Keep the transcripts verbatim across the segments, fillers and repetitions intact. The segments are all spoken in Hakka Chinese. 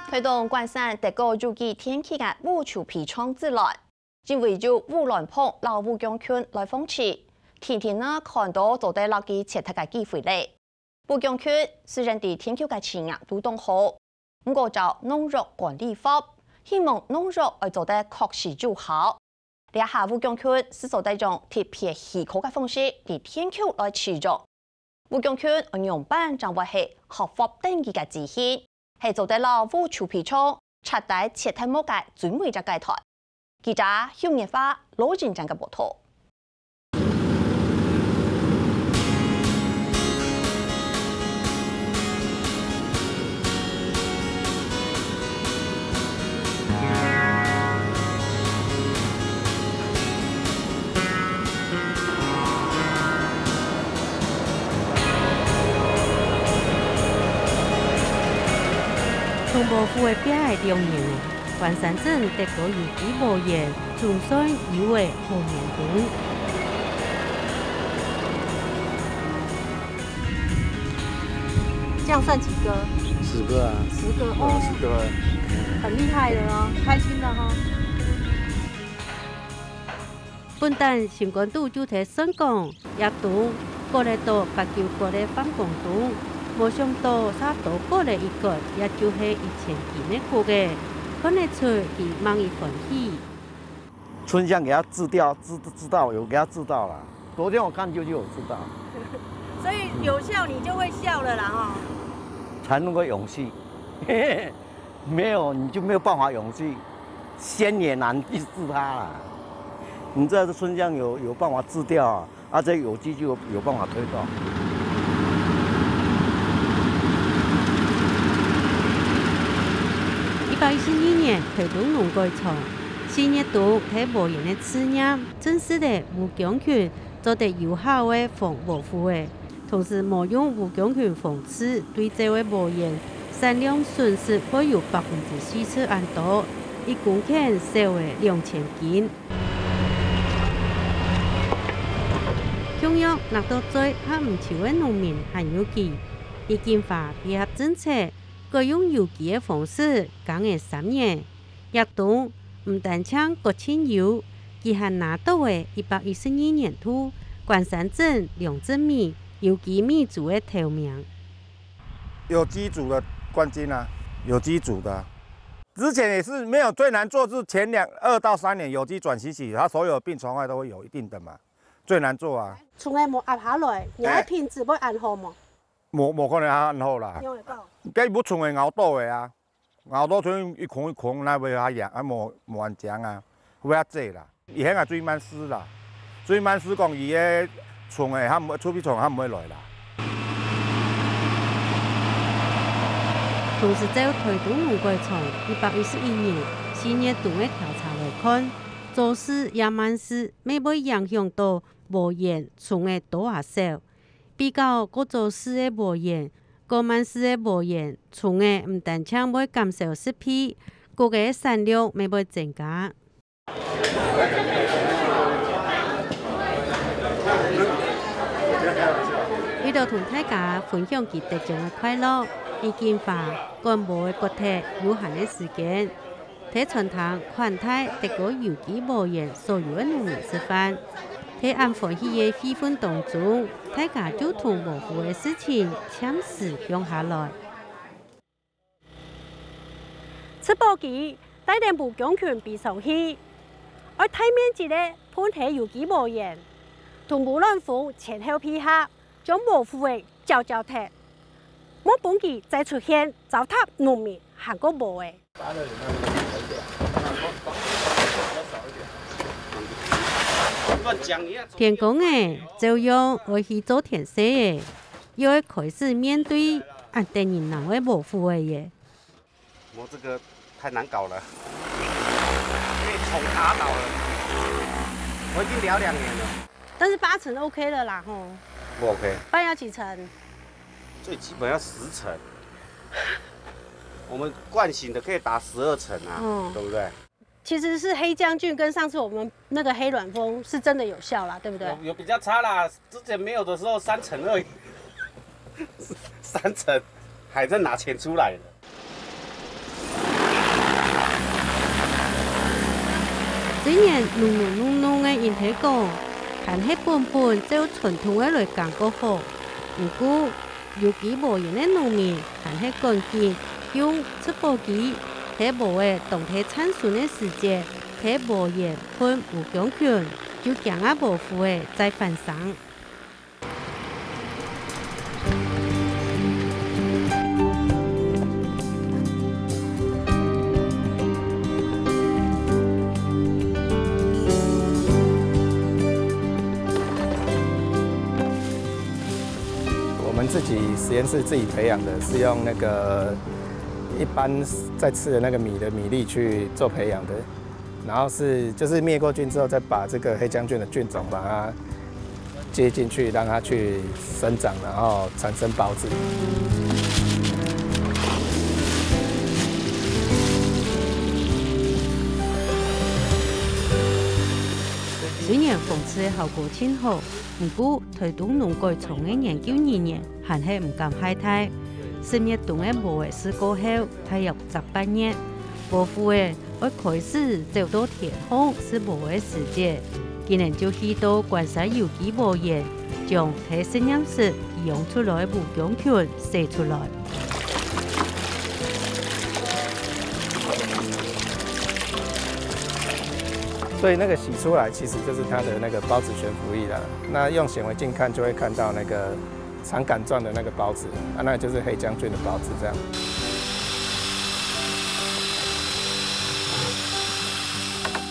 臺東關山得過有幾電氣个烏樹皮廠之內，因為有烏卵蓬摎烏芎芎來放置，天天啊看到做得摎佢切忒个機會咧。烏芎芎雖然在田坵个市場都當好，毋過照農藥管理法，希望農藥愛做得確實有效。 這下烏芎芎係做得用特別氣候个方式在田坵來使用。烏芎芎愛仰般正會係合法登記个資訊，係做得摎烏樹皮廠徹底切忒無个最尾隻階段。記者邱月花、羅仁章个報導。 同禾富仔拚仔兩年，關山鎮得過有機禾園，總算有仔好年冬。 這樣算幾個？十個啊。十個，哦，哦，十個啊。很厲害了哦，開心了哈。本旦心肝肚就在算講，這冬割仔到八九割仔放光冬，無想到煞多割仔一割，也就係一千斤个穀仔，看得出佢吂一歡喜。 春香給它治掉，治，治到，有給它治到了。昨天我看就，就有治到。所以有效，你就會笑了啦，哈。才能夠永續，没有你就没有办法永續，仙也难去治它啦。你知道这春香有，有办法治掉啊， 啊，這有機就有，有辦法推動。一百一十二年，臺東農改場，四月冬在禾園个試驗，證實了烏芎芎做得有效个防禾富仔，同時無用烏芎芎防治對照个禾園，產量損失會有百分之四十恁多，一公頃少了兩千斤。 共樣，拿到最合毋手个農民還有幾，李錦華配合政策，改用有機个方式耕仔三年。這冬，毋單淨割盡油，佢還拿到了一百一十二年度關山鎮良質米有機米豬个頭名。有機組的冠軍啊，有機組的。之前也是没有最难做，是前两，二到三年有机转型期，它所有病虫害都会有一定的嘛。 最难做啊。蟲仔無壓下來，你个品質會恁好無？無，無可能恁好啦。仰會講？該無蟲仔咬到个啊，咬到蟲一孔一孔，那會較癢，啊無，無恁靚啊，會較濟啦。以前啊，最慢死啦，最慢死講，伊个蟲仔，佢毋會，臭屁蟲，佢毋會來啦。同時照臺東農改場一百一十一年四月冬个調查來看，早市也慢市乜會影響到 禾園蟲仔多啊少。比較過早市个禾園，過慢市个禾園，蟲仔毋單淨會減少十倍，穀仔產量乜會增加。為了同大家分享佢得獎个快樂，李錦華趕禾仔割忒有限个時間， 在餐廳款待得過有機禾園所有个農民食飯。在恁歡喜个氣氛當中，大家就同禾富个事情暫時放下來。植保機帶等烏芎芎飛上去，愛大面積个分忒有機禾園，同烏卵蓬前後配合，將禾富仔攪攪忒，莫分佢再出現，糟蹋農民還過禾仔。 天光咧，照樣愛去做田事咧，又愛開始面對恁得人惱个禾富仔咧。我这个太难搞了，被虫打倒了。我已经聊两年了。但是八成OK了啦，吼。不OK。半要几成？最基本要十成。我们惯性的可以打十二成啊，嗯。对不对？其实是黑将军跟上次我们那个黑卵蜂是真的有效啦，对不对？有，有比较差啦，之前没有的时候三成而已，三成还在拿钱出来的。雖然濃濃濃濃个引體管，還係本本照傳統个來耕較好，毋過有機無菸个農民還係趕緊用植保機，在禾仔當在嶄脣个時節，在禾塋噴烏薑醛，就驚啊無符仔再翻生。 我们自己实验室自己培养的，是用那个一般在吃的那个米的米粒去做培养的。 然后是，就是灭过菌之后，再把这个黑浆菌的菌种把它接进去，让它去生长，然后产生孢子。虽然防治个效果真好，毋过台东农改场个研究人员还係毋敢懈怠。十月冬个禾仔試過後，大約十八月，無符仔 愛開始走到田項食禾个時節，佢等就去到關西有機禾園，將在實驗室培養出來个烏薑醛洗出來。所以那个洗出来其实就是它的那个孢子悬浮液啦。那用显微镜看就会看到那个 肠杆状的那个孢子，啊，那就是黑浆菌的孢子这样。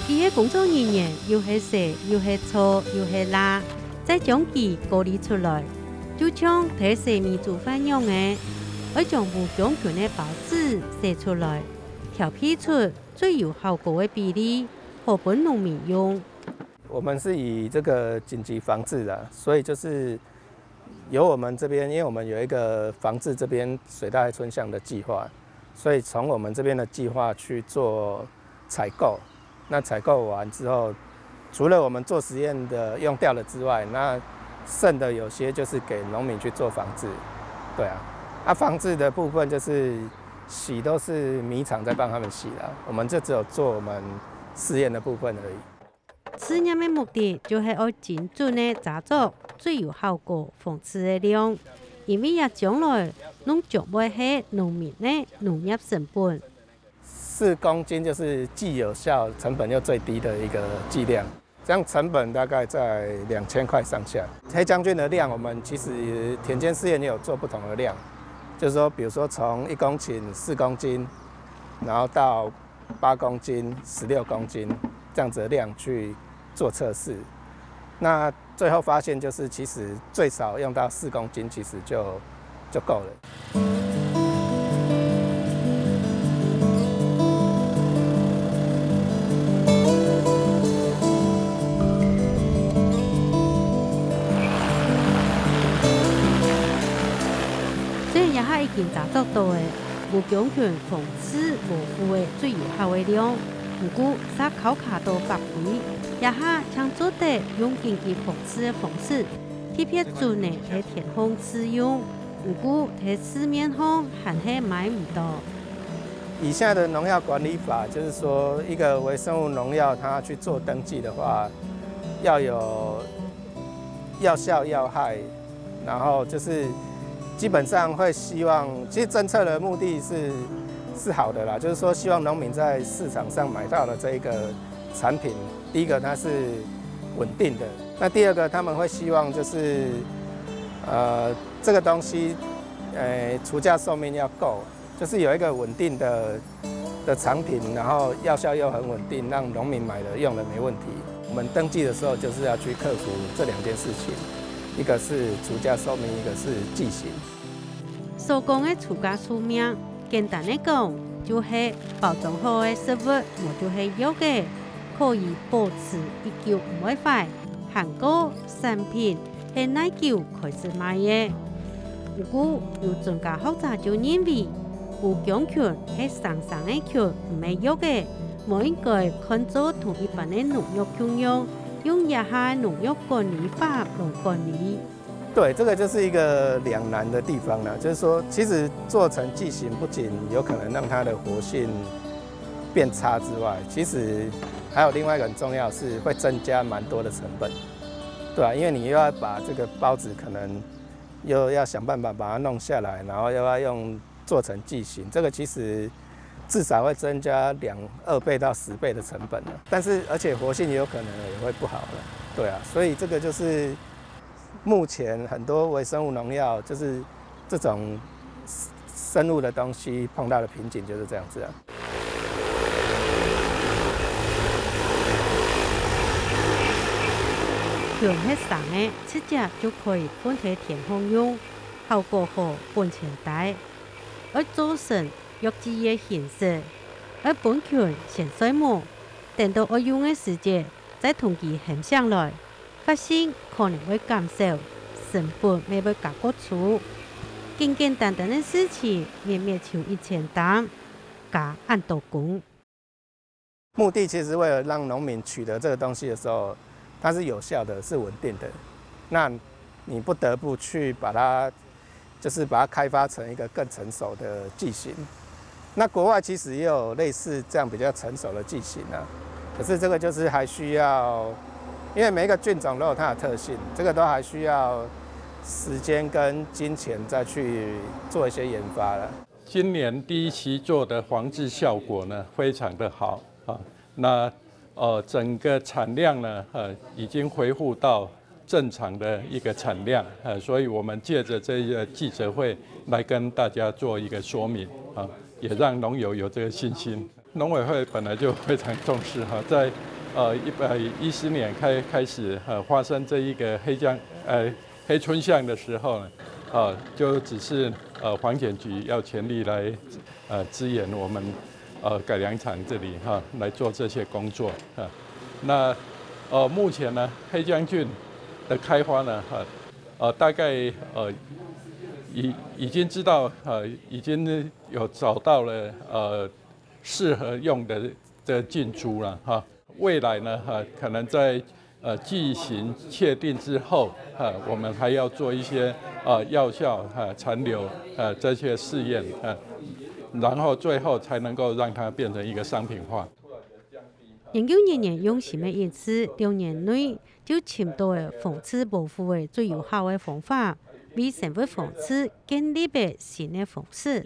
佢个工作人員又係洗，又係搓，又係抐，再將佢過濾出來，就像在洗米煮飯樣仔，愛將無薑醛个孢子洗出來，調配出最有效果个比例，好分農民用。我们是以这个紧急防治啦，所以就是 由我们这边，因为我们有一个防治这边水稻爱春象的计划，所以从我们这边的计划去做采购。那采购完之后，除了我们做实验的用掉了之外，那剩的有些就是给农民去做防治。对啊，啊，防治的部分就是洗都是米厂在帮他们洗啦，我们就只有做我们试验的部分而已。 試驗个目的就係愛精準个查著最有效果防治个量，因為這將來攏將會係農民个農業成本。四公斤就是既有效、成本又最低的一个剂量，这样成本大概在两千块上下。黑将军的量，我们其实田间试验也有做不同的量，就是说，比如说从一公顷四公斤，然后到八公斤、十六公斤这样子的量去做测试。那最后发现，就是其实最少用到四公斤，其实就就够了。雖然這下已經查著到了，無強權防 係無負个最有效个量，毋過煞考卡到法規，這下淨做得用緊急防治个方式，特別準个在田項試用，毋過在市面項還係買毋到。以下的農藥管理法，就是說一個微生物農藥，它去做登記的話，要有 藥效、藥害，然后就是基本上会希望，其实政策的目的是是好的啦，就是说希望农民在市场上买到的这一个产品，第一个它是稳定的，那第二个他们会希望就是呃这个东西，呃除价寿命要够，就是有一个稳定的 的产品，然后药效又很稳定，让农民买了用了没问题。我们登记的时候就是要去克服这两件事情，一个是除价寿命，一个是剂型。所講个除價壽命，簡單个講，就係包裝好个食物，無就係藥仔，可以保持已久毋會壞，還過產品 係哪久開始賣个。毋過，有專家學者就認為，無強權係生生个權，毋係藥仔，無應該看做同一般个農藥共樣，用這下个農藥管理法來管理。对，这个就是一个两难的地方了，就是说，其实做成剂型不仅有可能让它的活性变差之外，其实还有另外一个很重要是会增加蛮多的成本，对啊，因为你又要把这个包子可能又要想办法把它弄下来，然后又要用做成剂型，这个其实至少会增加两二倍到十倍的成本了。但是而且活性也有可能也会不好了，对啊，所以这个就是目前很多微生物农药就是这种生物的东西碰到的瓶颈就是这样子啊。全係生个，直接就可以分在田項用，效果好，本錢低。愛做成藥劑个形式，愛分菌先睡目，等到愛用个時節，再同佢喊醒來。 發性可能會減少，成本乜會加過粗。簡簡單單个事情，乜乜就一千擔，加恁多工。目的其实为了让农民取得这个东西的时候，它是有效的，是稳定的。那你不得不去把它就是把它开发成一个更成熟的剂型。那国外其实也有类似这样比较成熟的剂型啊，可是这个就是还需要，因为每一个菌种都有它的特性，这个都还需要时间跟金钱再去做一些研发了。今年第一期做的防治效果呢，非常的好啊。那呃，整个产量呢，呃，已经恢复到正常的一个产量，呃，所以我们借着这个记者会来跟大家做一个说明啊，也让农友有这个信心。农委会本来就非常重视哈，在呃一百一十年开开始呃发生这一个黑将呃黑春象的时候呢，呃就指示呃环检局要全力来呃支援我们呃改良场这里哈来做这些工作啊。那呃目前呢黑将菌的开发呢哈呃大概呃已已经知道呃已经有找到了呃适合用的这菌株了哈。未来呢哈可能在呃剂型确定之后哈，我们还要做一些呃药效哈残留呃这些试验啊，然后最后才能够让它变成一个商品化。研究人員用心个一次，两年内就寻到个防治保护个最有效个方法，为生物防治建立个新个方式。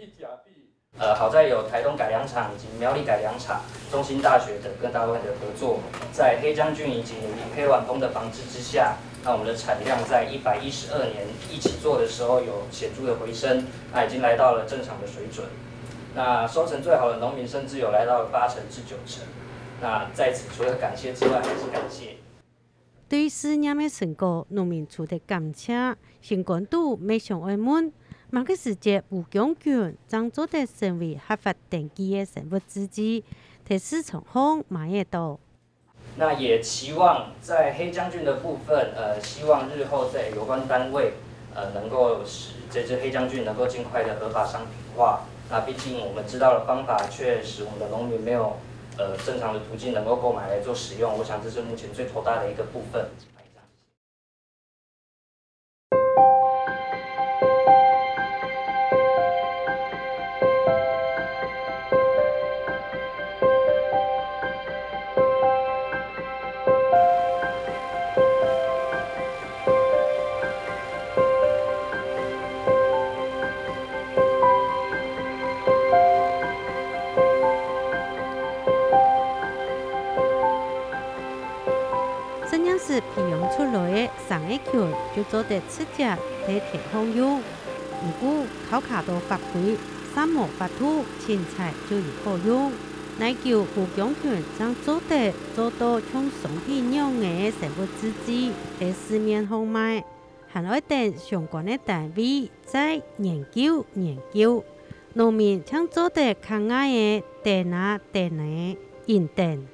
呃，好在有台东改良场以及苗栗改良场、中兴大学等各单位的合作，在黑将军以及黑晚风的防治之下，那我们的产量在一百一十二年一起做的时候有显著的回升，那已经来到了正常的水准。那收成最好的农民甚至有来到了八成至九成。那在此除了感谢之外，还是感谢。对试验个成果，农民除忒感谢，心肝肚乜想爱问，么个时节无将军正做得成为合法登记个生物制剂，在市场上买得到。那也期望在黑将军的部分，呃，希望日后在有关单位，呃，能够使这支黑将军能够尽快的合法商品化。那毕竟我们知道的方法，却使我们的农民没有呃正常的途径能够购买来做使用。我想这是目前最头大的一个部分。实验室培养出来个生个菌就做得直接在田項用。毋過，靠卡到發揮，三無法度，凊彩就有好用。耐久無將菌正做得做到像商品樣个生物製劑在市面項賣，還愛等相關个單位再研究研究。農民正做得較𠊎个等啊等呢，緊等。